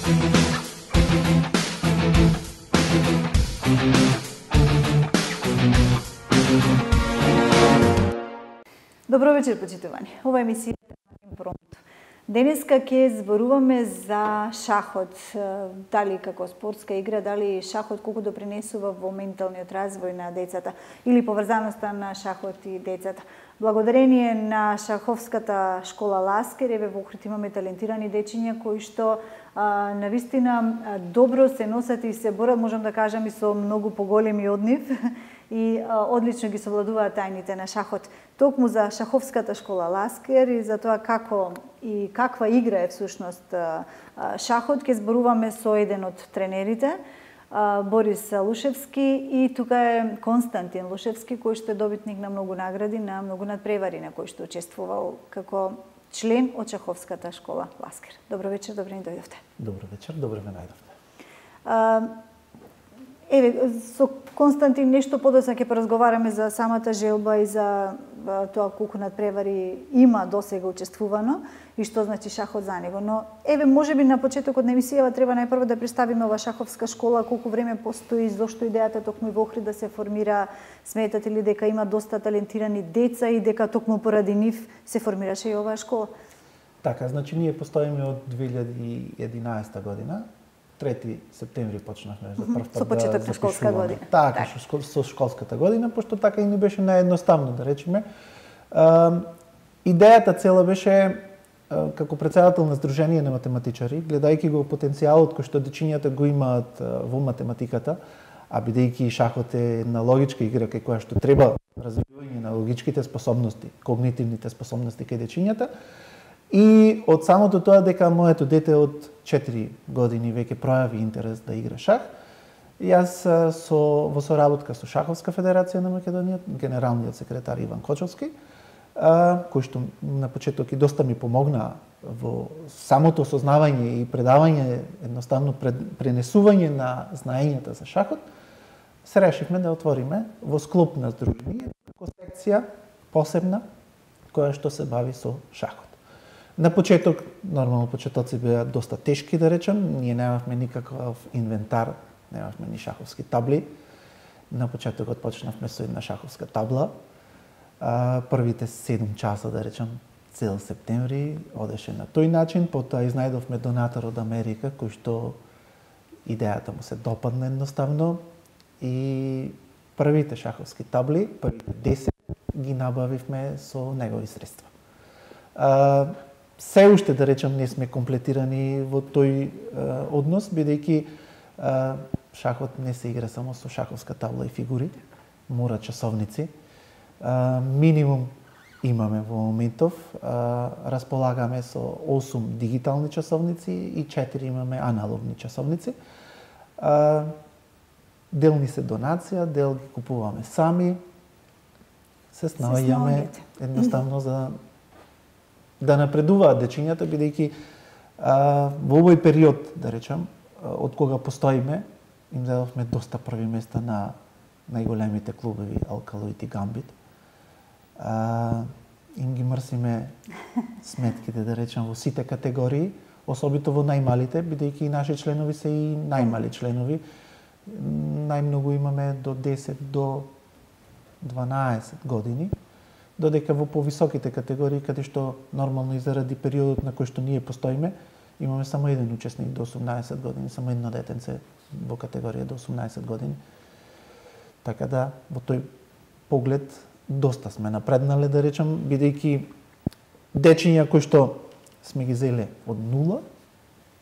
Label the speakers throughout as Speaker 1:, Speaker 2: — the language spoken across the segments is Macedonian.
Speaker 1: Добро вечер, почитувани. Ова емисија е Импромто. Денеска ќе зборуваме за шахот, дали како спортска игра, дали шахот колку допринесува во менталниот развој на децата или поврзаноста на шахот и децата. Благодарение на шаховската школа Ласкер, еве во Охрид имаме талентирани дечиња кои што навистина добро се носат и се борат, можам да кажам, и со многу поголеми од нив и одлично ги совладуваат тајните на шахот. Токму за шаховската школа Ласкер и за тоа како и каква игра е всушност шахот, ќе зборуваме со еден од тренерите, Борис Лушевски, и тука е Константин Лушевски, кој што е добитник на многу награди, на многу надпревари на кој што учествувал како член од шаховската школа Ласкер. Добро вечер, добро ни дојдовте.
Speaker 2: Добро вечер, добро ме најдовте.
Speaker 1: Еве, со Константин нешто подоцна ќе поразговараме за самата желба и за тоа колку надпревари има досега учествувано и што значи шахот за него. Но еве, можеби на почетокот на емисијава треба најпрво да представиме ова шаховска школа, колку време постои, зошто идејата токму и во Охрид да се формира, сметате ли дека има доста талентирани деца и дека токму поради нив се формираше и оваа школа?
Speaker 2: Така, значи ние постоиме од 2011 година. 3 септември почнавме за прв пат
Speaker 1: со почеток на школска година.
Speaker 2: Така, со школската година, пошто така и не беше наедноставно, да речеме. Идејата цела беше, како председател на Сдружение на математичари, гледајќи го потенцијалот кој што дечињата го имаат во математиката, а бидејќи шахот е една логичка игра кај која што треба развивање на логичките способности, когнитивните способности кај дечињата. И од самото тоа дека моето дете од 4 години веќе пројави интерес да игра шах, јас во соработка со Шаховска федерација на Македонија, генералниот секретар Иван Кочовски, кој што на почеток и доста ми помогна во самото осознавање и предавање, едноставно пренесување на знаењата за шахот, се решивме да отвориме во склоп на здружение како секција посебна која што се бави со шахот. На почеток, нормално почетоци беа доста тешки, да речем, ние немавме никаков инвентар, немавме ни шаховски табли. На почетокот почнавме со една шаховска табла. Првите 7 часа, да речем, цел септември одеше на тој начин, потоа изнајдовме донатор од Америка, кој што идејата му се допадна едноставно и првите шаховски табли, првите 10, ги набавивме со негови средства. Се уште, да речем, не сме комплетирани во тој однос, бидејќи шахот не се игра само со шаховска табла и фигури, мора часовници. Минимум имаме во моментов, располагаме со 8 дигитални часовници и 4 имаме аналогни часовници. Дел ни се донација, дел ги купуваме сами, се снаоѓаме едноставно за да напредуваат дечињата, бидејќи во овој период, да речем, од кога постоиме, им дадовме доста први места на најголемите клубови Алкалоид и Гамбит. Им ги мрсиме сметките, да речем, во сите категории, особито во најмалите, бидејќи и наши членови се и најмали членови. Најмногу имаме до 10 до 12 години, додека во повисоките категории, каде што нормално и заради периодот на кој што ние постоиме, имаме само еден учесник до 18 години, само едно детенце во категорија до 18 години. Така да, во тој поглед, доста сме напреднале, да речем, бидејќи дечиња кои што сме ги зеле од нула,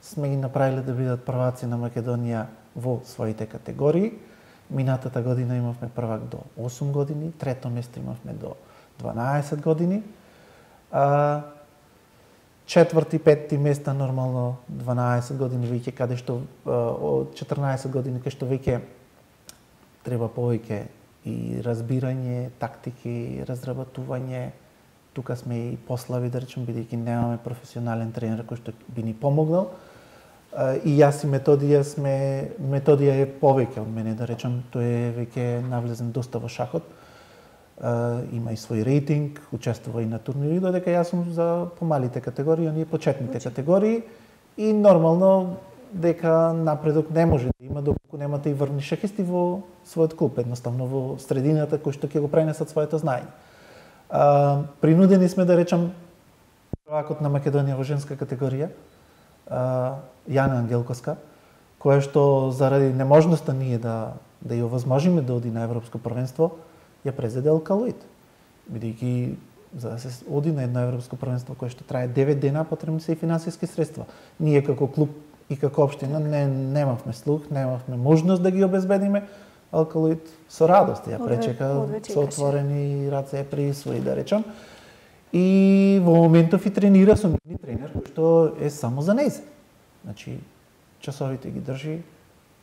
Speaker 2: сме ги направиле да бидат прваци на Македонија во своите категории. Минатата година имавме првак до 8 години, трето место имавме до 12 години. Четврти, петти места нормално 12 години веќе, каде што од 14 години каде што веќе треба повеќе и разбирање, тактики, разработување. Тука сме и послави, да речем, бидејќи немаме професионален тренер кој што би ни помогнал. И јас и Методија е повеќе од мене, да речем, тој е веќе навлезен доста во шахот. Има и свој рейтинг, учествува и на турнири, додека јас сум за помалите категории, оние почетните категории и нормално дека напредок не може да има доколку немате и врвни шахисти во својот клуб, едноставно во средината кои што ќе го пренесат своето знаење. Принудени сме да речам prvакот на Македонија во женска категорија, Јана Ангелковска, која што заради неможноста ние да ја овозможиме да оди на европско првенство, ја презеде Алкалоид. Бидејќи за да се оди на едно европско првенство кое што трае 9 дена, потребни се и финансиски средства. Ние како клуб и како општина немавме слух, немавме можност да ги обезбедиме. Алкалоид со радост ја пречека со отворени раце присвои, да речам. И во моментов и тренира со нивни тренер кој што е само за нејзе. Значи, часовите ги држи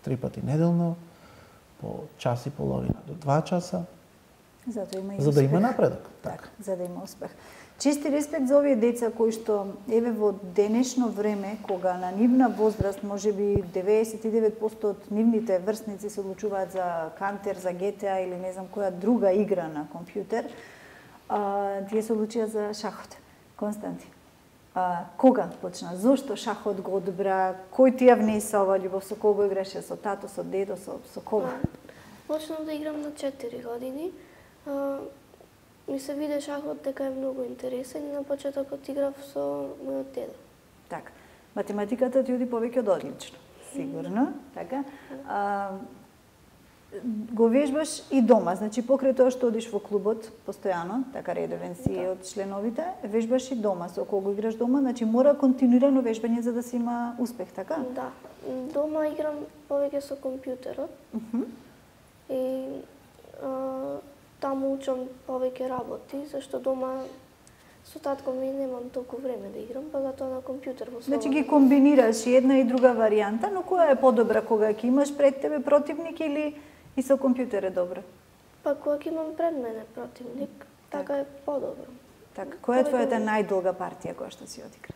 Speaker 2: 3 пати неделно, по час и половина до 2 часа. За да има напредок.
Speaker 1: Така, за да има успех. Чисти респект за овие деца кои што еве во денешно време, кога на нивна возраст можеби 99% од нивните врсници се одлучуваат за Кантер, за GTA или не знам која друга игра на компјутер, тие се одлучија за шахот. Константин, кога почна? Зошто шахот го одбра? Кој ти ја внеса ова љубов? Со кого играше? Со тато, со дедо, со кого?
Speaker 3: Почнав да играм на 4 години. Ми се виде шахот дека е многу интересен и на почетокот играв со мојот дедо.
Speaker 1: Така. Математиката ти оди повеќе од одлично, сигурно, така. Го вежбаш и дома, значи покрај тоа што одиш во клубот постојано, така редовен си од членовите, вежбаш и дома. Со кого играш дома, значи мора континуирано вежбање за да се има успех, така?
Speaker 3: Да. Дома играм повеќе со компјутерот. И таму учам повеќе работи, зашто дома со татко ми немам толку време да играм, па затоа на компјутер во
Speaker 1: Значи ги комбинираш и една и друга варијанта, но која е подобра кога ќе имаш пред тебе противник или и со компјутер е добро?
Speaker 3: Па кога ќе имам пред мене противник, така е подобро.
Speaker 1: Така, која е твојата најдолга партија која што си одигра?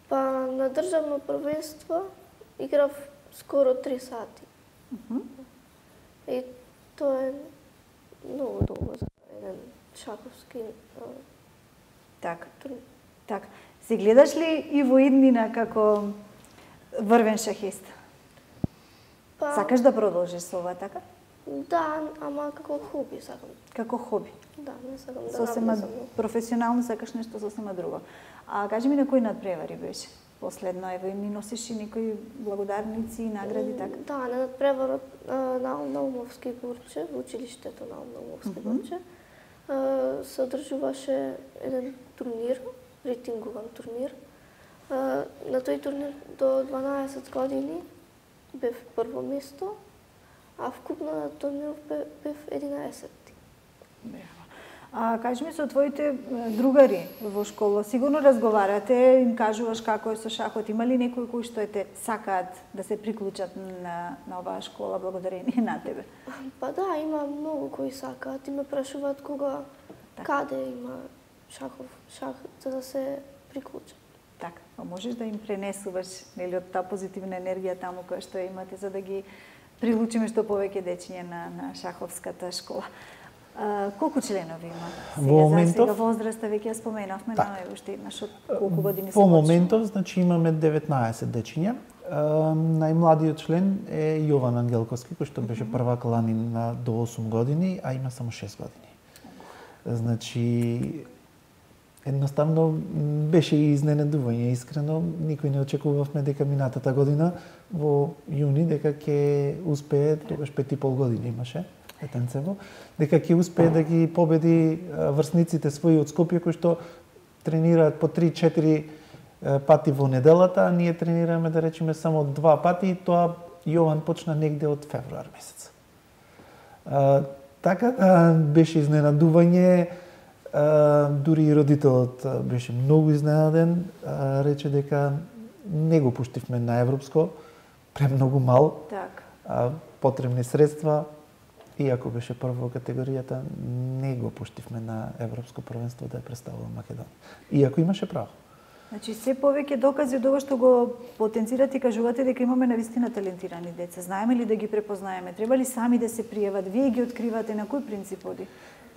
Speaker 3: Па на државно првенство играв скоро 3 сати. И тоа е многу долго за еден шаховски
Speaker 1: Така. Така. Се гледаш ли и во иднина како врвен шахист?
Speaker 3: Па,
Speaker 1: Сакаш да продолжиш со ова, така?
Speaker 3: Да, ама како хоби сакам.
Speaker 1: Како хоби?
Speaker 3: Да, не сакам да
Speaker 1: Сосема
Speaker 3: навлезам.
Speaker 1: професионално сакаш нешто сосема друго. А кажи ми на кој надпревари беше? Последно, ево, и ни носиш и некои благодарници и награди, така?
Speaker 3: Да, на надпреварот на Наумовски Гурче, во училиштето на Наумовски Гурче, се одржуваше еден турнир, рейтингуван турнир. На тој турнир до 12 години бев прво место, а вкупно на турнир бев 11-ти.
Speaker 1: Кажи ми со твоите другари во школа, сигурно разговарате, им кажуваш како е со шахот, има ли некои кои што те сакаат да се приклучат на оваа школа благодарение на тебе?
Speaker 3: Па да, има многу кои сакаат и ме прашуваат кога, каде има шах за да се приклучат.
Speaker 1: Така, а можеш да им пренесуваш нели од таа позитивна енергија таму која што имате за да ги прилучиме што повеќе дечиња на шаховската школа. Колку членови има?
Speaker 2: Во моментов,
Speaker 1: сега возраста веќе ја споменавме, но е уште еднаш од колку години се
Speaker 2: Во моментов, значи имаме 19 дечиња. Најмладиот член е Јован Ангелковски, кој што беше првак лани до 8 години, а има само 6 години. Значи, едноставно беше и изненадување, искрено. Никој не очекувавме дека минатата година во јуни дека ќе успее, тогаш 5,5 години имаше детенцево, дека ќе успее да ги победи врсниците своји од Скопје кои што тренираат по 3-4 пати во неделата, а ние тренираме да речеме само 2 пати и тоа Јован почна негде од февруар месец. Така беше изненадување, дури и родителот беше многу изненаден, рече дека не го пуштивме на европско, премногу мал, потребни средства, иако беше прво во категоријата, не го пуштивме на европско првенство да ја представува Македонија. Иако имаше право.
Speaker 1: Значи, се повеќе докази од ова што го потенцирате и кажувате дека имаме навистина талентирани деца. Знаеме ли да ги препознаеме? Треба ли сами да се пријават? Вие ги откривате на кој принцип оди?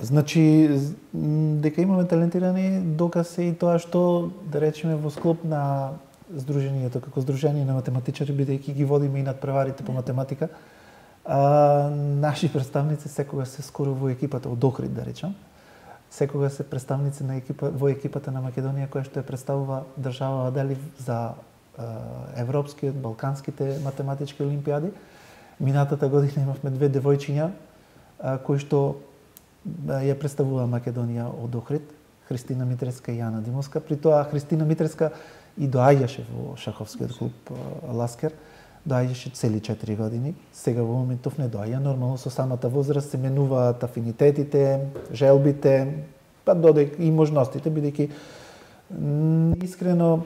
Speaker 2: Значи, дека имаме талентирани, доказ е и тоа што, да речеме, во склоп на Сдруженијето како Сдружение на математичари, бидејќи ги водиме и надпреварите по математика, наши представници секогаш се скоро во екипата од Охрид, да речам. Секогаш се представници на во екипата на Македонија која што ја представува држава дали за европскиот, балканските математички олимпиади. Минатата година имавме две девојчиња кои што ја представува Македонија од Охрид, Христина Митреска и Јана Димовска. При тоа Христина Митреска и доаѓаше во шаховскиот клуб Ласкер, доаѓаше цели 4 години. Сега во моментов не доаѓа, нормално со самата возраст се менуваат афинитетите, желбите, па додека и можностите, бидејќи искрено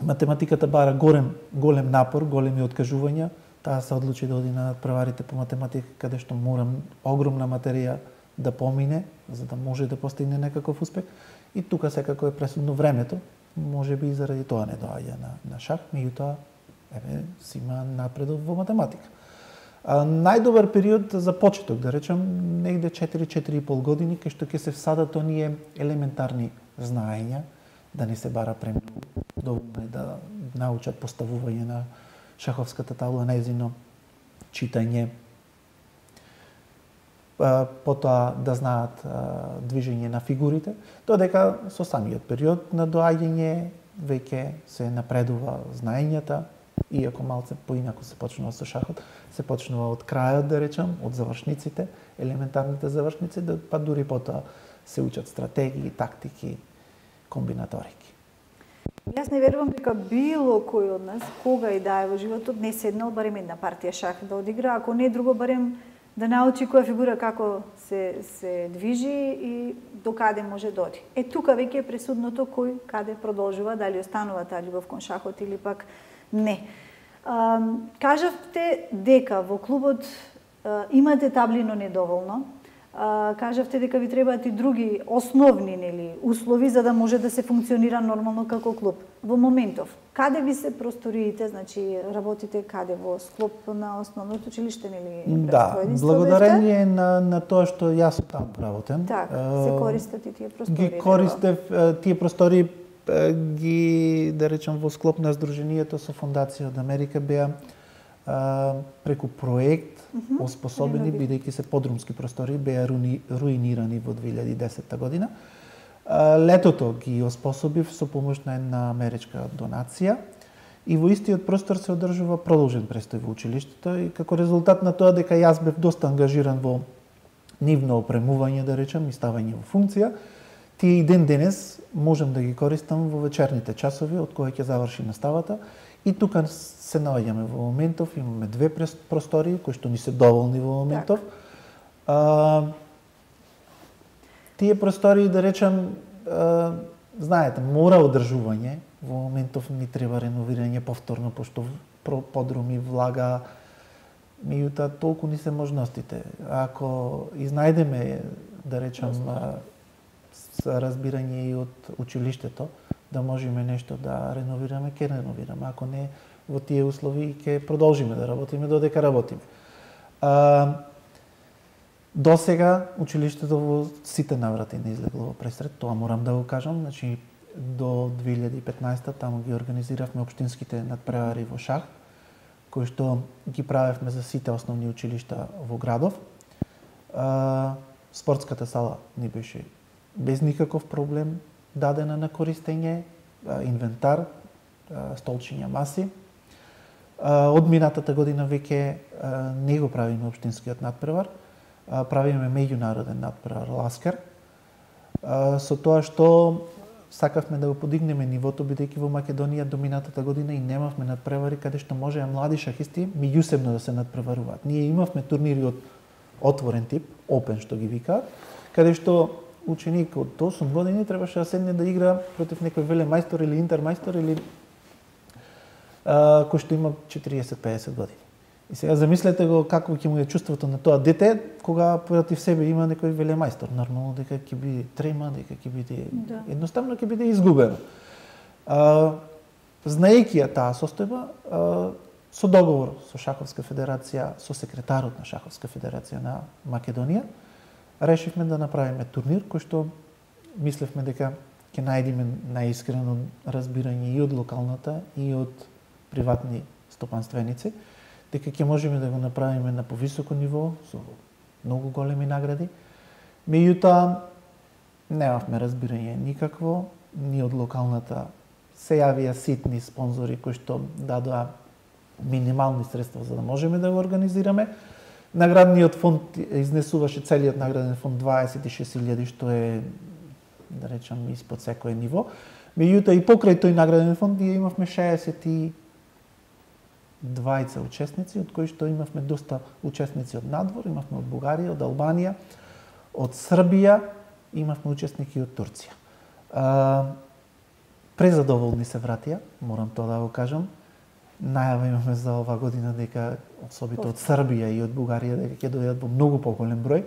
Speaker 2: математиката бара голем напор, големи откажувања. Таа се одлучи да оди на надпреварите по математика, каде што морам огромна материја да помине, за да може да постигне некаков успех. И тука секако е пресудно времето, може би и заради тоа не доаѓа на шах, меѓутоа си има напредок во математика. Најдобар период за почеток, да речем, негде 4-4,5 години, кај што ќе се всадат оние елементарни знаења, да не се бара премногу, доволно е да научат поставување на шаховската табла, нејзино читање, потоа да знаат движење на фигурите, додека со самиот период на доаѓање веќе се напредува знаењата, иако малце поинако се почнува со шахот, се почнува од крајот, да речам, од завршниците, елементарните завршници, па дури потоа се учат стратегии, тактики, комбинаторики.
Speaker 1: Јас не верувам дека било кој од нас, кога и да е во животот, не седнал барем една партија шах да одигра, ако не друго барем да научи која фигура како се движи и до каде може да оди. Тука веќе е пресудното кој каде продолжува, дали останува таа љубов кон шахот или пак не. Кажавте дека во клубот имате табли, но недоволно. Кажавте дека ви требаат и други основни услови за да може да се функционира нормално како клуб. Во моментов, каде ви се просториите, значи работите каде во склоп на основното училиште
Speaker 2: Да, благодарение на тоа што јас таму работам.
Speaker 1: Така, се користат и тие простори.
Speaker 2: Ги користев тие простори да речам во склоп на Сдруженијето со Фондација од Америка беа преку проект оспособени, бидејќи се подрумски простори, беа руинирани во 2010 година. Летото ги оспособив со помош на една америчка донација и во истиот простор се одржува продолжен престој во училиштето и како резултат на тоа дека јас бев доста ангажиран во нивно опремување, да речем, и ставање во функција, тие и ден денес можам да ги користам во вечерните часови од кога ќе заврши наставата. И тука се наоѓаме во моментов, имаме две простори кои што ни се доволни во моментов. Тие простори, да речем, знаете, мора одржување, во моментов ни треба реновирање повторно, пошто подруми, влага, меѓутоа толку ни се можностите. Ако изнајдеме, да речем, разбирање и од училиштето, да можеме нешто да реновираме, ќе реновираме. Ако не, во тие услови ќе продолжиме да работиме додека работиме. До сега училиштето во сите наврати не излегло во пресрет, тоа морам да го кажам. Значи, до 2015 таму ги организиравме општинските надпревари во шах, кои што ги правевме за сите основни училишта во градов. Спортската сала ни беше без никаков проблем дадена на користење, инвентар, столчиња, маси. Од минатата година веќе не го правиме општинскиот надпревар, правиме меѓународен надпревар Ласкер, со тоа што сакавме да го подигнеме нивото, бидејќи во Македонија до минатата година и немавме надпревари каде што можеа млади шахисти меѓусебно да се надпреваруваат. Ние имавме турнири од отворен тип, open што ги викаат, каде што ученик од 8 години требаше да седне да игра против некој велемајстор или интермајстор или кој што има 40-50 години. И сега замислете го како ќе му е чувството на тоа дете кога против себе има некој велемајстор. Нормално дека ќе биде трема, дека ќе биде едноставно ќе биде изгубено. Знаејќи ја таа состојба, со договор со Шаховска федерација, со секретарот на Шаховска федерација на Македонија, решивме да направиме турнир кој што мислевме дека ќе најдеме најискрено разбирање и од локалната и од приватни стопанственици, дека ќе можеме да го направиме на повисоко ниво со многу големи награди. Меѓутоа немавме разбирање никакво, ни од локалната се јавија ситни спонзори кои што дадоа минимални средства за да можеме да го организираме. Наградниот фонд изнесуваше целиот награден фонд 26.000, што е, да речам, испод секое ниво. Меѓутоа и покрај тој награден фонд ние имавме 62 учесници, од кои што имавме доста учесници од надвор, имавме од Бугарија, од Албанија, од Србија, имавме учесници од Турција. Презадоволни се вратија, морам тоа да го кажам. Најава имаме за ова година дека особито од Србија и од Бугарија дека ќе дојдат во многу поголем број.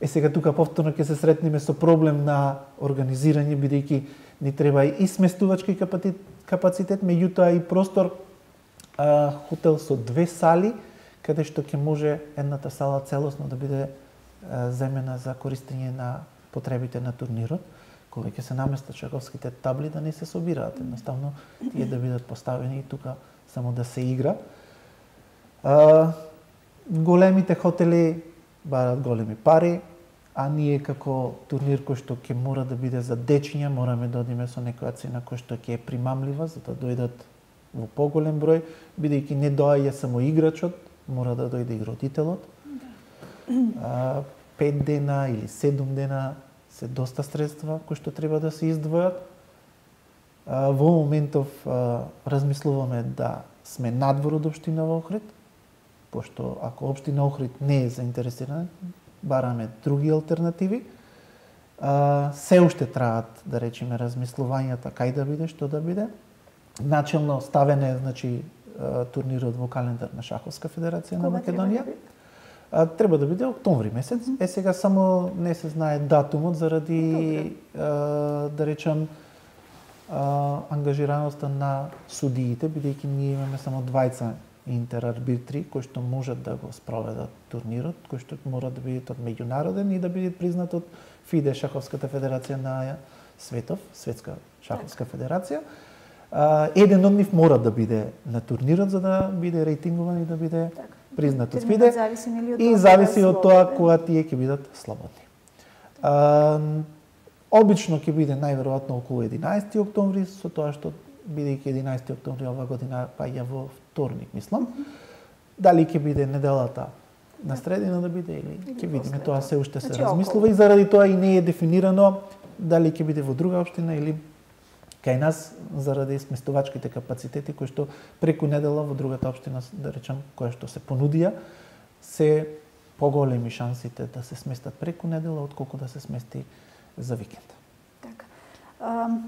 Speaker 2: Сега тука повторно ќе се сретнеме со проблем на организирање, бидејќи ни треба и сместувачки капацитет, меѓутоа и простор, хотел со 2 сали, каде што ќе може едната сала целосно да биде земена за користење на потребите на турнирот, кога ќе се наместат шаковските табли да не се собираат, едноставно тие да бидат поставени и тука само да се игра. Големите хотели барат големи пари, а ние како турнир кој што ќе мора да биде за дечиња, мораме да одиме со некоја цена која што ќе е примамлива, за да дојдат во поголем број, бидејќи не доаѓа само играчот, мора да дојде и родителот. 5 дена или 7 дена се доста средства кои што треба да се издвојат. Во моментов размислуваме да сме надвор од општина Охрид, пошто ако општина Охрид не е заинтересирана, бараме други алтернативи. Се уште траат, да речеме, размислувањата кај да биде, што да биде. Начелно ставен е, значи, турнирот во календар на Шаховска федерација на Македонија. Треба да биде октомври месец. Сега само не се знае датумот заради, да речам, ангажираноста на судиите, бидејќи ние имаме само 2 интерарбитри кои што можат да го спроведат турнирот, кои што мора да бидат од меѓународен и да бидат признат од ФИДЕ, Шаховската федерација на светов, Светска шаховска федерација. Еден од нив мора да биде на турнирот за да биде рейтингуван и да биде признат од ФИДЕ и зависи од тоа кога тие ќе бидат слободни. Обично ќе биде најверојатно околу 11 октомври, со тоа што бидејќи 11 октомври ова година паѓа во вторник, мислам. Дали ќе биде неделата на средина да биде или ќе видиме, тоа се уште се размислува и заради тоа и не е дефинирано дали ќе биде во друга општина или кај нас заради сместувачките капацитети кои што преку недела во другата општина, да речам, која што се понудија, се поголеми шансите да се сместат преку недела отколку да се смести за викенд.
Speaker 1: Така.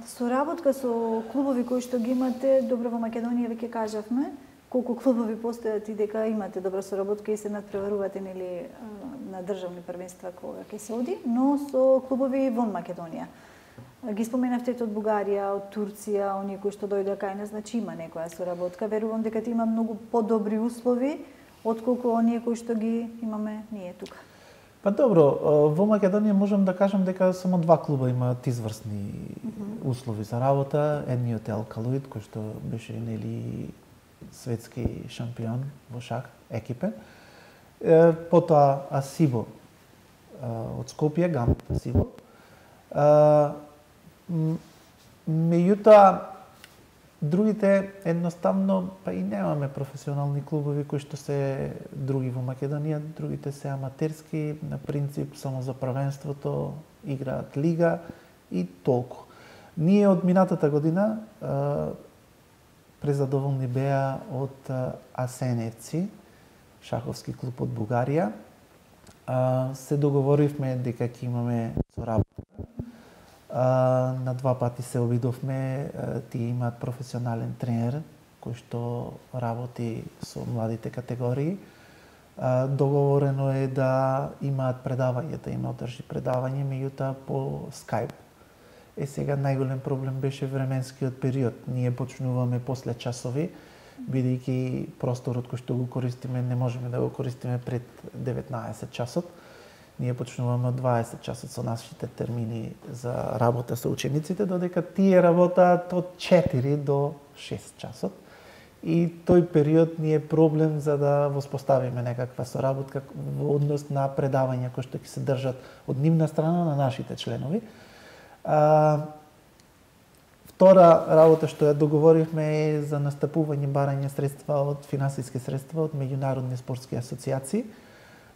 Speaker 1: Соработка со клубови кои што ги имате, добро во Македонија веќе кажавме, колку клубови постојат и дека имате добра соработка и се надпреварувате нели на државни првенства кога ќе се оди, но со клубови вон Македонија. Ги споменавте од Бугарија, од Турција, оние кои што дојдоа кај нас, значи има некоја соработка. Верувам дека има многу подобри услови отколку оние кои што ги имаме ние тука.
Speaker 2: Па добро, во Македонија можам да кажам дека само 2 клуба имаат изврсни услови за работа. Едниот е Алкалоид, кој што беше нели светски шампион во шах, екипен. Потоа Асибо од Скопје, Гамбит Асибо. Меѓутоа, другите едноставно па и немаме професионални клубови кои што се други во Македонија, другите се аматерски, на принцип само за првенството играат лига и толку. Ние од минатата година презадоволни беа од Асеневци, шаховски клуб од Бугарија. Се договоривме дека ќе имаме соработка. На 2 пати се обидовме, тие имаат професионален тренер кој што работи со младите категории. Договорено е да имаат предавање, да има одржи предавање, меѓутоа по Skype. Сега најголем проблем беше временскиот период. Ние почнуваме после часови, бидејќи просторот кој што го користиме не можеме да го користиме пред 19 часот. ние почнуваме 20 часот со нашите термини за работа со учениците, додека тие работаат од 4 до 6 часот. И тој период ни е проблем за да воспоставиме некаква соработка во однос на предавања кои што ќе се држат од нивна страна на нашите членови. Втора работа што ја договоривме е за настапување барање средства од финансиски средства од меѓународни спортски асоциации.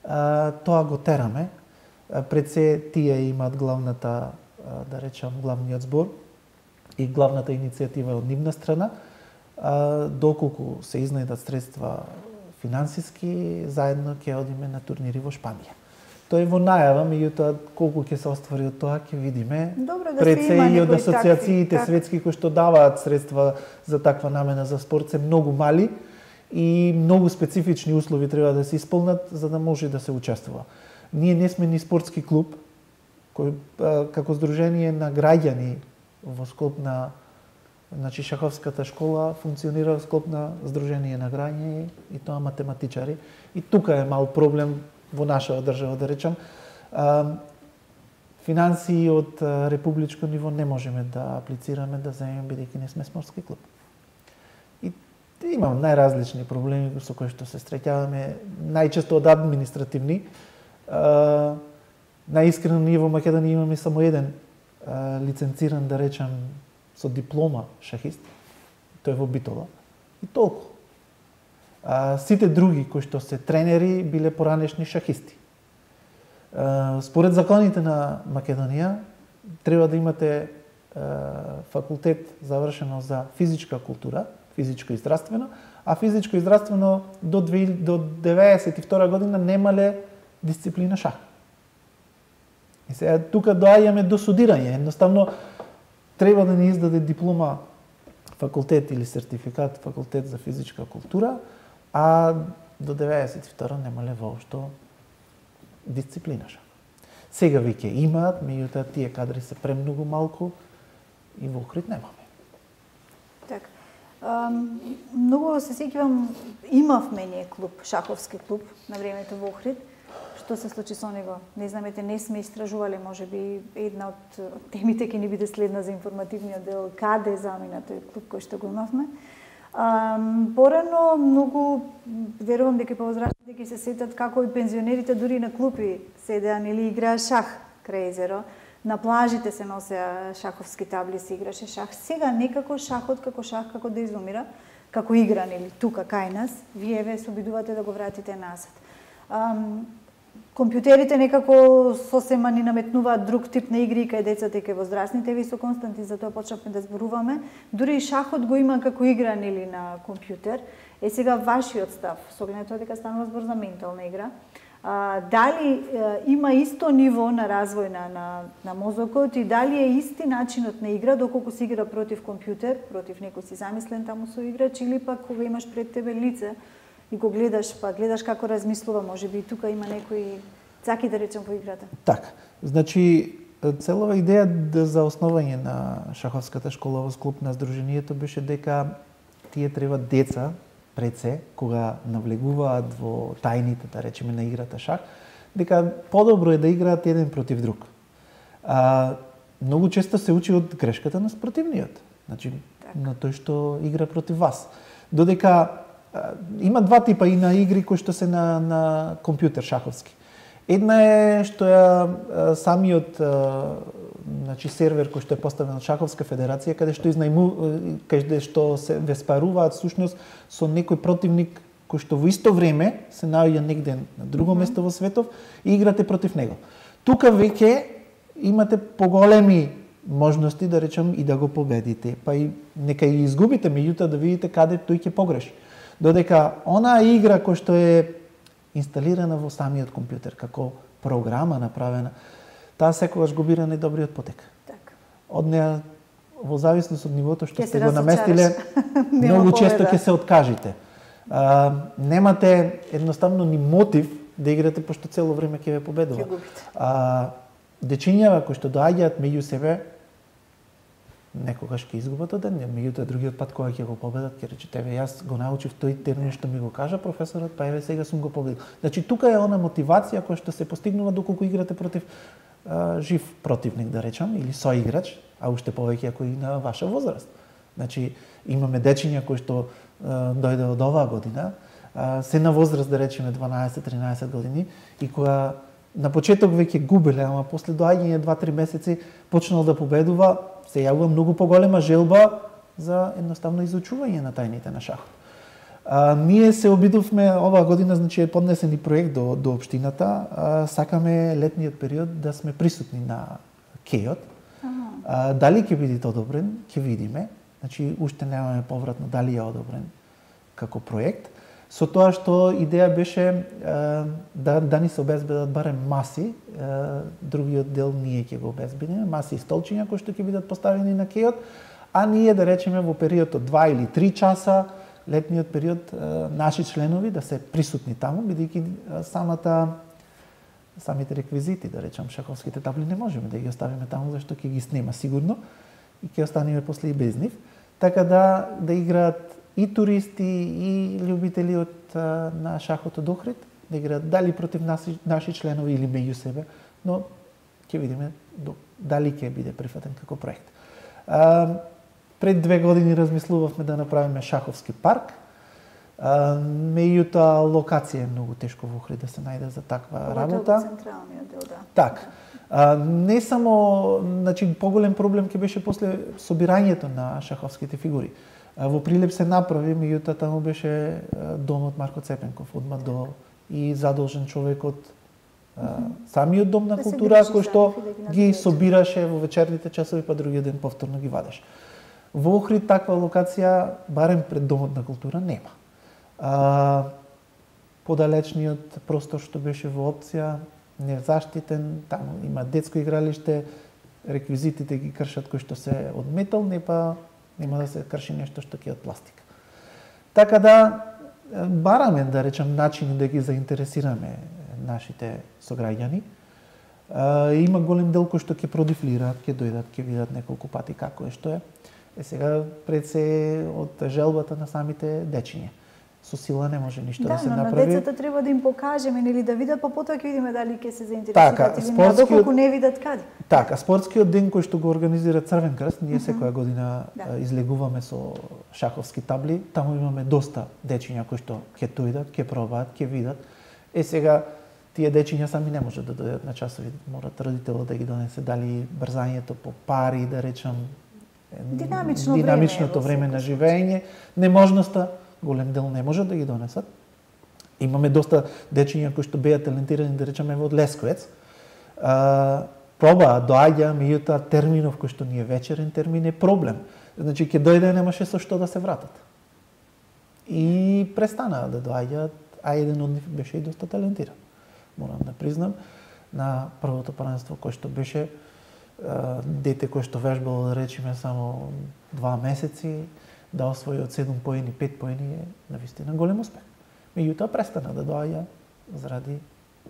Speaker 2: Тоа го тераме. Пред се тие имаат главната, да речам, главниот збор и главната иницијатива од нивна страна. Доколку се изнајдат средства финансиски, заедно ќе одиме на турнири во Шпанија. Тоа е во најава, меѓутоа колку ќе се оствари од тоа ќе видиме.
Speaker 1: Добро, да
Speaker 2: пред се и од асоциациите
Speaker 1: такви,
Speaker 2: светски кои што даваат средства за таква намена за спорт се многу мали и многу специфични услови треба да се исполнат за да може да се учествува. Ние не сме ни спортски клуб кој како здружение на граѓани во склоп на шаховската школа функционира во склоп на здружение на граѓани и тоа математичари. И тука е мал проблем во нашава држава, да речам. Финансии од републичко ниво не можеме да аплицираме да земеме бидејќи не сме спортски клуб. И имам најразлични проблеми со кои што се среќаваме, најчесто од административни. Најискрено ние во Македонија имаме само еден лиценциран, да речам, со диплома шахист, тој во Битола, и толку. Сите други кои што се тренери биле поранешни шахисти. Според законите на Македонија треба да имате факултет завршено за физичка култура, физичко и здравствено, а физичко и здравствено до 92 година немале дисциплина шах. И сега тука доаѓаме до судирање. Едноставно треба да ни издаде диплома факултет или сертификат факултет за физичка култура, а до 92 немале воопшто дисциплина шах. Сега веќе имаат, меѓутоа тие кадри се премногу малку и во Охрид немаме.
Speaker 1: Така. Многу се сеќавам, имавме ние клуб, шаховски клуб на времето во Охрид. Што се случи со него? Не знамете, не сме истражувале, може би една од темите ќе ни биде следна за информативниот дел, каде замина тој клуб кој што го имавме. Порано многу верувам дека повозрастните ќе се сетат како и пензионерите дури на клупи седеа или играа шах крај езеро. На плажите се носеа шаховски табли, се играше шах. Сега некако шахот како шах како да изумира, како игран или тука кај нас, вие ве се обидувате да го вратите назад. Компјутерите некако сосема ни наметнуваат друг тип на игри кај децата и кај возрастните. Ви со Константин за тоа почнавме да зборуваме. Дури и шахот го има како игран или на компјутер. Е сега вашиот став, со оглед на тоа дека станува збор за ментална игра. Дали има исто ниво на развој на мозокот и дали е исти начинот на игра доколку се игра против компјутер, против некој си замислен таму со играч, или пак кога имаш пред тебе лице и го гледаш, па гледаш како размислува, можеби и тука има некои цаки, да речем, во играта.
Speaker 2: Така, значи целова идеја за основање на шаховската школа во склоп на здруженијето беше дека тие треба деца пред се, кога навлегуваат во тајните, да речеме, на играта шах, дека подобро е да играат еден против друг. Многу често се учи од грешката на спротивниот, значи на тој што игра против вас. Додека има два типа и на игри кои што се на компјутер шаховски. Една е што ја самиот значи сервер кој што е поставен од Шаховска федерација, каде што се веспаруваат всушност со некој противник кој што во исто време се наоѓа негде на друго место во светов и играте против него. Тука веќе имате поголеми можности, да речем, и да го победите, па и нека и изгубите, меѓутоа да видите каде тој ќе погреши. Додека онаа игра кој што е инсталирана во самиот компјутер како програма направена, таа секогаш го бира најдобриот потек.
Speaker 1: Так.
Speaker 2: Од неа, во зависност од нивото што сте го наместиле, многу често ќе се откажите. Немате едноставно ни мотив да играте, пошто цело време ќе ве победува. Дечињава кои што доаѓаат меѓу себе, некогаш ќе изгубат од ден, меѓутоа другиот пат кога ќе го победат, ќе рече тебе јас го научив тој термин што ми го кажа професорот, па еве сега сум го победил. Значи тука е она мотивација која што се постигнува доколку играте против жив противник, да речам, или соиграч, а уште повеќе ако и на ваша возраст. Значи имаме дечиња кои што дојде од оваа година, се на возраст, да речеме 12-13 години, и која на почеток веќе губеле, ама после доаѓање 2-3 месеци почнал да победува, се јавува многу поголема желба за едноставно изучување на тајните на шахот. Ние се обидовме оваа година, значи е поднесен и проект до општината, сакаме летниот период да сме присутни на кејот. Дали ќе биде одобрен, ќе видиме. Значи уште немаме повратно дали е одобрен како проект. Со тоа што идеја беше да ни се обезбедат барем маси, другиот дел ние ќе го обезбедиме, маси и столчиња кои што ќе бидат поставени на кејот, а ние да речеме во период од 2 или 3 часа, летниот период, наши членови да се присутни таму, бидејќи самите реквизити, да речам, шаховските табли не можеме да ги оставиме таму, зашто ќе ги снема сигурно и ќе останеме после и без нив. Така да играат и туристи, и љубители на шахот од Охрид, да играат дали против наши членови или меѓу себе, но ќе видиме дали ќе биде прифатен како проект. Пред 2 години размислувавме да направиме шаховски парк, меѓутоа локација е многу тешко во Охрид да се најде за таква работа.
Speaker 1: Централниот дел, да.
Speaker 2: Така. Не само, значи поголем проблем ќе беше после собирањето на шаховските фигури. Во Прилеп се направи, меѓутоа таму беше домот Марко Цепенков, одма до и задолжен човек од самиот дом на култура, кој што ги собираше во вечерните часови, па другиот ден повторно ги вадеше. Во Охрид таква локација, барем пред домот на култура, нема. Подалечниот простор што беше во опција, незаштитен, таму има детско игралиште, реквизитите ги кршат кои што се од метал, нема да се крши нешто што ќе од пластика. Така да бараме, да речем, начини да ги заинтересираме нашите сограѓани. Има голем дел кој што ќе продифлираат, ќе дојдат, ќе видат неколку пати како е, што е. Сега пред се од желбата на самите дечиња. Со сила не може ништо да се направи.
Speaker 1: Да, но на децата треба да им покажеме, нели да видат, па потоа ќе видиме дали ќе се заинтересираат или не, доколку не видат каде.
Speaker 2: Така, спортскиот ден кој што го организира Црвен крст, ние секоја година излегуваме со шаховски табли, таму имаме доста дечиња кои што ќе дојдат, ќе пробаат, ќе видат. Сега тие дечиња сами не можат да дојдат на часови, морат родителот да ги донесе, дали брзањето по пари, да речам, динамичното време на живење, неможноста, голем дел не можат да ги донесат. Имаме доста дечиња кои што беа талентирани, да речеме, од Лесковец. Пробаа, доаѓа, меѓутоа терминов кој што ни е вечерен термин е проблем. Значи ќе дојде, немаше со што да се вратат. И престанаа да доаѓаат, а еден од нив беше и доста талентиран. Морам да признам, на првото првенство кој што беше дете кој што вежбало, да речеме, само 2 месеци, да освои од 7 поени, 5 поени е навистина голем успех. Меѓутоа престана да доаѓа заради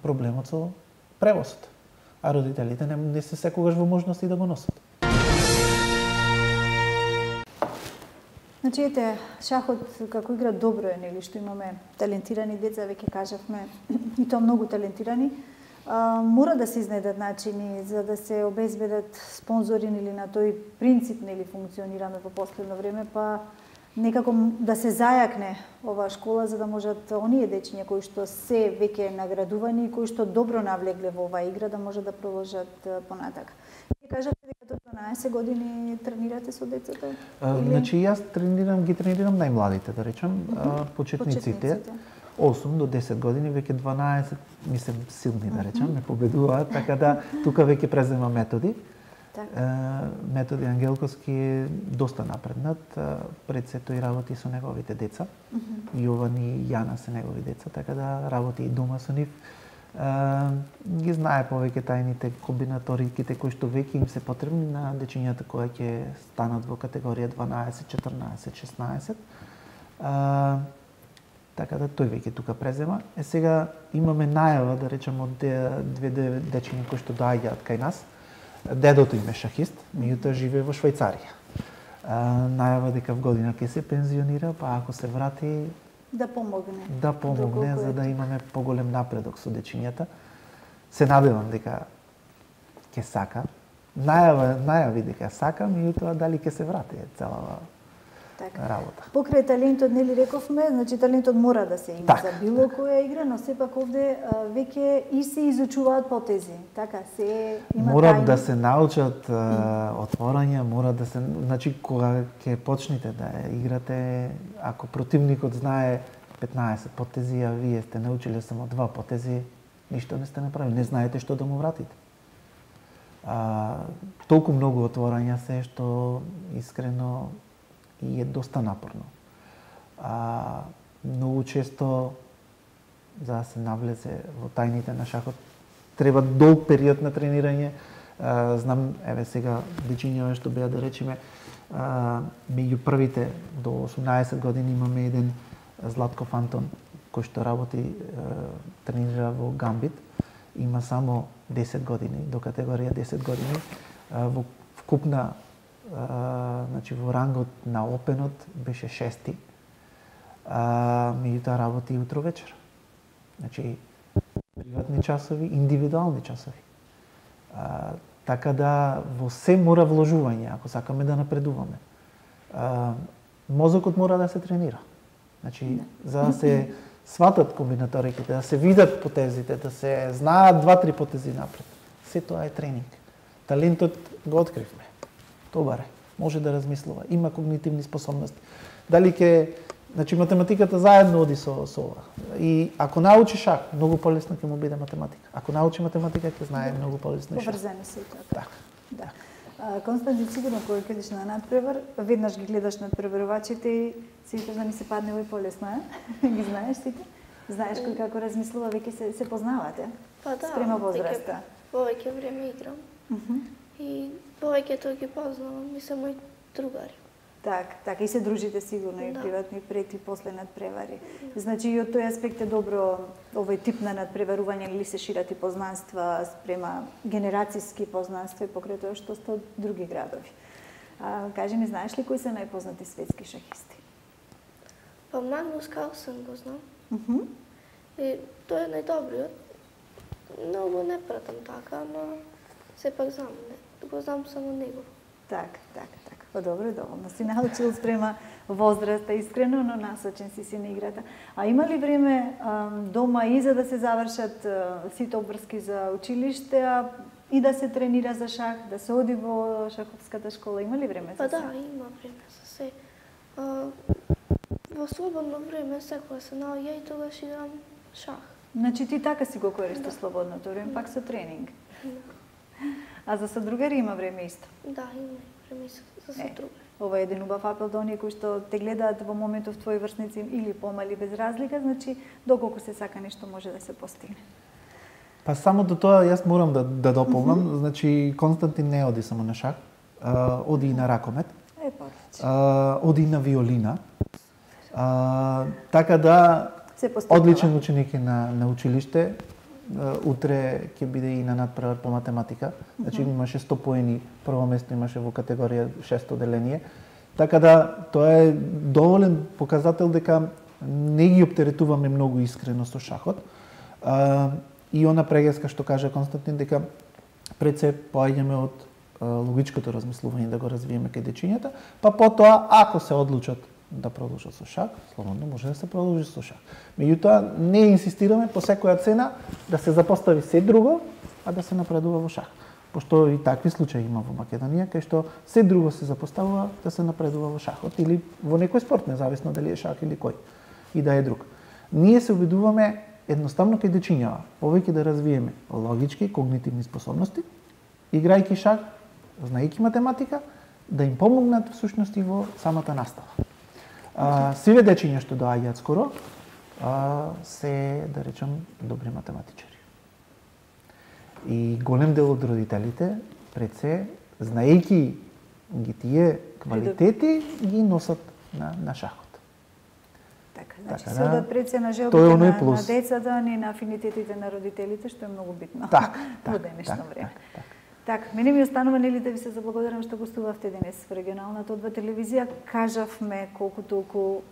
Speaker 2: проблемот со превозот. А родителите не се секогаш во можности да го носат.
Speaker 1: Значи, ете, шахот како игра добро е, нели, што имаме талентирани деца, веќе кажавме, и тоа многу талентирани. Мора да се изнедат начини за да се обезбедат спонзори или на тој принцип, нели, функционираме во последно време, па некако да се зајакне оваа школа за да можат оние дечиња кои што се веќе наградувани и кои што добро навлегле во оваа игра да може да продолжат понатака. Вие кажавте дека до 12 години тренирате со децата?
Speaker 2: Значи јас ги тренирам најмладите, да речам, почетниците. 8 до 10 години, веќе 12, мислам, силни, да речам, ме победуваат, така да тука веќе презема методи. Методи Ангелковски е доста напреднат, пред се тој работи со неговите деца. Јован и Јана се негови деца, така да работи и дома со нив. Ги знае повеќе тајните комбинаториките кои што веќе им се потребни на дечињата кои ќе станат во категорија 12, 14, 16. Така да тој веќе тука презема. Сега имаме најава, да речем, од две дечиња кои што доаѓаат кај нас. Дедото им е шахист, меѓутоа живее во Швајцарија. најава дека в година ќе се пензионира, па ако се врати
Speaker 1: да помогне.
Speaker 2: Да помогне за да имаме поголем напредок со дечињата. Се надевам дека ќе сака. Најави дека сака, меѓутоа дали ќе се врати целава работа.
Speaker 1: Покрај талентот, нели рековме, значи талентот мора да се има за било која игра, но сепак овде веќе и се изучуваат потези. Така, се има
Speaker 2: Морат да се научат отворања, мора да се, значи кога ќе почнете да играте, ако противникот знае 15 потези, а вие сте научиле само 2 потези, ништо не сте направили, не знаете што да му вратите. Толку многу отворања се што искрено и е доста напорно. Многу често за да се навлезе во тајните на шахот треба долг период на тренирање. Знам, еве сега дечиња што беа да речеме меѓу првите до 18 години имаме еден Златков Антон кој што работи тренира во Гамбит. Има само 10 години, до категорија 10 години. Во вкупна значи во рангот на опенот беше 6-ти. Меѓутоа работи утро вечер. Значи приватни часови, индивидуални часови. Така да во се мора вложување ако сакаме да напредуваме. Мозокот мора да се тренира. Значи за да се сватат комбинаториките, да се видат потезите, да се знаат 2-3 потези напред. Се тоа е тренинг. Талентот го откривме. Добар е, може да размислува, има когнитивни способности. Дали ќе, значи математиката заедно оди со ова. И ако научи шах, многу полесно ќе му биде математика. Ако научи математика, ќе знае многу полесно шах.
Speaker 1: Поврзани се тоа.
Speaker 2: Така.
Speaker 1: Да. Константин, сигурно кога ќедиш на надпревар, веднаш ги гледаш надпреварувачите и си викаш да ми се падне овој полесно, ги знаеш сите? Знаеш кој како размислува, веќе се познавате?
Speaker 3: Па да,
Speaker 1: спрема возраста.
Speaker 3: Повеќе време играм. И повеќето ги познавам, и се мои другари.
Speaker 1: Така, и се дружите сигурно и приватно и пред и после надпревари. Значи и од тој аспект е добро овој тип на надпреварување или се шират и познанства спрема генерацијски познанства и покрај тоа што сте од други градови. Кажи ми, знаеш ли кои се најпознати светски шахисти?
Speaker 3: Па Магнус Карлсен го знам. И тој е најдобриот. Многу не пратам така, но сепак знам, го знам само него.
Speaker 1: Така. Па добро, доволно си научил спрема возраста, искрено, но насочен си на играта. А има ли време дома и за да се завршат сите обврски за училиште, и да се тренира за шах, да се оди во шаховската школа? Има ли време за се?
Speaker 3: Па да, има време за се. Во слободно време секоја се наоѓа и тогаш играм шах.
Speaker 1: Значи ти така си го користиш слободното време, пак со тренинг. А за содругари има време исто?
Speaker 3: Да, има време за содругари.
Speaker 1: Ова е еден убав апел до оние кои што те гледаат во моментов твои врсници или помали без разлика, значи доколку се сака нешто може да се постигне.
Speaker 2: Па само до тоа јас морам да дополнам, значи Константин не оди само на шах, оди и на ракомет. Оди и на виолина. Така да одличен ученик е на училиште. Утре ќе биде и на надпревар по математика. Значи имаше 100 поени, прво место имаше во категорија 6 деление. Така да тоа е доволен показател дека не ги оптеретуваме многу искрено со шахот. И она прегеска што кажа Константин дека пред се поаѓаме од логичкото размислување да го развиеме кај дечињата, па потоа ако се одлучат да продолжат со шах, слободно може да се продолжи со шах. Меѓутоа не инсистираме по секоја цена да се запостави се друго, а да се напредува во шах. Пошто и такви случаи има во Македонија, кај што се друго се запоставува да се напредува во шахот или во некој спорт, независно дали е шах или кој и да е друг. Ние се обидуваме едноставно кај дечињава, повеќе да развиеме логички, когнитивни способности, играјќи шах, знаејќи математика, да им помогнат всушност и во самата настава. Сиве дечиња што доаѓаат скоро се, да речем, добри математичари. И голем дел од родителите, пред се, знаејќи ги тие квалитети, ги носат на шахот.
Speaker 1: Така, значи се одат пред се на желбите на децата, не на афинитетите на родителите, што е многу битно во денешно време. Така, мене ми останува нели да ви се заблагодарам што гостувавте денес во регионалната одба телевизија. Кажавме колку толку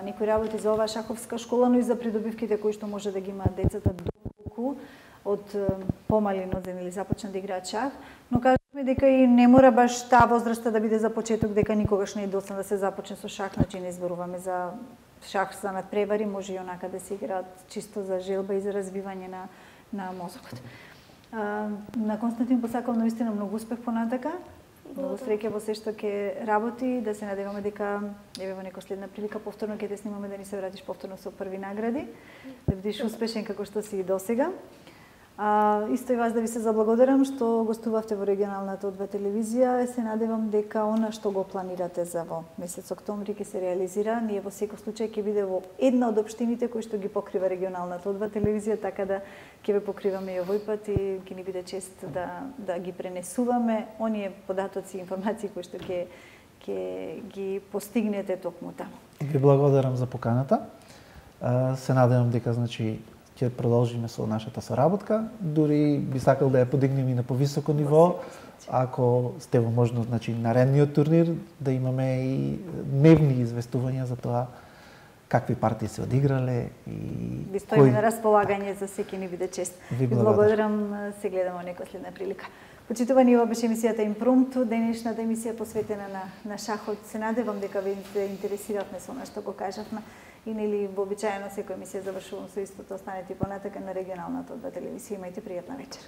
Speaker 1: некои работи за оваа шаховска школа, но и за придобивките кои што може да ги имаат децата доколку од помали нозен или започнат да играат шах, но кажавме дека и не мора баш таа возраста да биде за почеток, дека никогаш не е доцна да се започне со шах, значи не зборуваме за шах за надпревари, може и онака да се играат чисто за желба и за развивање на мозокот. На Константин посакам наистина многу успех понатака. Многу среќа во се што ќе работи, да се надеваме дека еве во некоја следна прилика повторно ќе те снимаме да ни се вратиш повторно со први награди, да бидеш успешен како што си и досега. Исто и вас да ви се заблагодарам што гостувавте во регионалната одба телевизија. Се надевам дека она што го планирате за во месец октомври ќе се реализира. Ние во секој случај ќе биде во една од општините кои што ги покрива регионалната одба телевизија, така да ќе ве покриваме и овој пат и ќе ни биде чест да ги пренесуваме оние податоци и информации кои што ќе ги постигнете токму таму.
Speaker 2: Ви благодарам за поканата. Се надевам дека значи ќе продолжиме со нашата соработка, дури би сакал да ја подигнеме и на повисоко ниво, ако сте во можност, значи наредниот турнир да имаме и дневни известувања за тоа какви партии се одиграле и
Speaker 1: ви стоиме на располагање за секој ни биде чест.
Speaker 2: Ви
Speaker 1: благодарам, се гледаме некоја следна прилика. Почитувани, ова беше емисијата Импромту, денешната емисија посветена на шахот. Се надевам дека ве интересиравме со она што го кажавме. И нели вообичаено секоја емисија завршувам со истото, останете понатака на регионалната одба телевизија. Имајте пријатна вечер.